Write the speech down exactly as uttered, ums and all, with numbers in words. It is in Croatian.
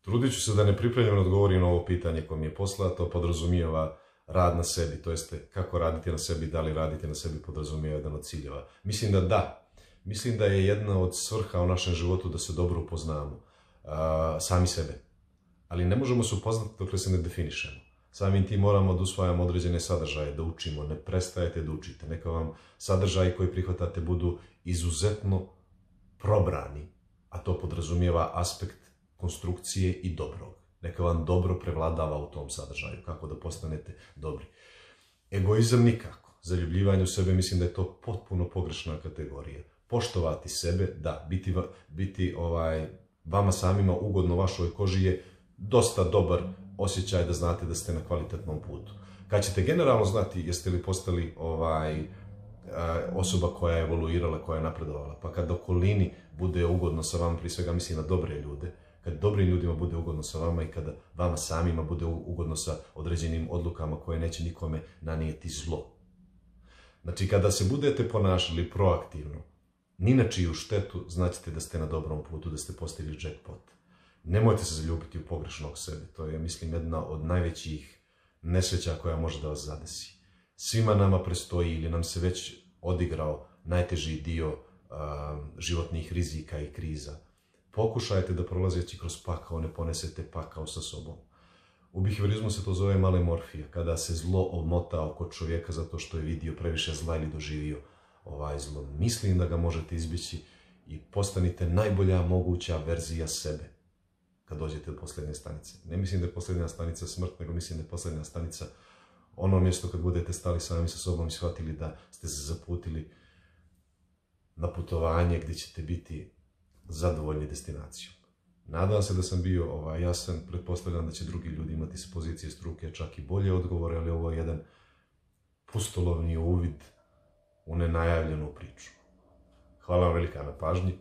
Trudit ću se da nepripremljeno odgovorim na ovo pitanje koje mi je poslato, podrazumijeva rad na sebi, to jeste kako raditi na sebi, da li raditi na sebi podrazumijeva jedan od ciljeva. Mislim da da. Mislim da je jedna od svrha u našem životu da se dobro upoznamo, a, sami sebe. Ali ne možemo se upoznati dok se ne definišemo. Samim tim moramo da usvajamo određene sadržaje, da učimo, ne prestajete da učite. Neka vam sadržaji koji prihvatate budu izuzetno probrani, a to podrazumijeva aspekt konstrukcije i dobrog. Neka vam dobro prevladava u tom sadržaju, kako da postanete dobri. Egoizam nikako. Zaljubljivanje u sebe, mislim da je to potpuno pogrešna kategorija. Poštovati sebe, da, biti, biti ovaj, vama samima ugodno vašoj koži je dosta dobar osjećaj da znate da ste na kvalitetnom putu. Kad ćete generalno znati jeste li postali ovaj, osoba koja je evoluirala, koja je napredovala, pa kad okolini bude ugodno sa vama, prije svega mislim na dobre ljude, kad dobrim ljudima bude ugodno sa vama i kada vama samima bude ugodno sa određenim odlukama koje neće nikome nanijeti zlo. Znači, kada se budete ponašali proaktivno, ni na čiju štetu, znaćete da ste na dobrom putu, da ste postigli jackpot. Nemojte se zaljubiti u pogrešnog sebe. To je, mislim, jedna od najvećih nesreća koja može da vas zadesi. Svima nama prestoji ili nam se već odigrao najteži dio a, životnih rizika i kriza. Pokušajte da prolazeći kroz pakao ne ponesete pakao sa sobom. U biheviorizmu se to zove malemorfija, kada se zlo omota oko čovjeka zato što je vidio previše zla ili doživio ovaj zlo. Mislim da ga možete izbjeći i postanite najbolja moguća verzija sebe kad dođete do posljednje stanice. Ne mislim da je posljednja stanica smrt, nego mislim da je posljednja stanica ono mjesto kad budete stali sami sa sobom i shvatili da ste se zaputili na putovanje gdje ćete biti zadovoljni destinacijom. Nadam se da sam bio ovaj, jasan, pretpostavljam da će drugi ljudi imati s pozicije struke čak i bolje odgovore, ali ovo je jedan pustolovni uvid u nenajavljenu priču. Hvala vam velika na pažnji.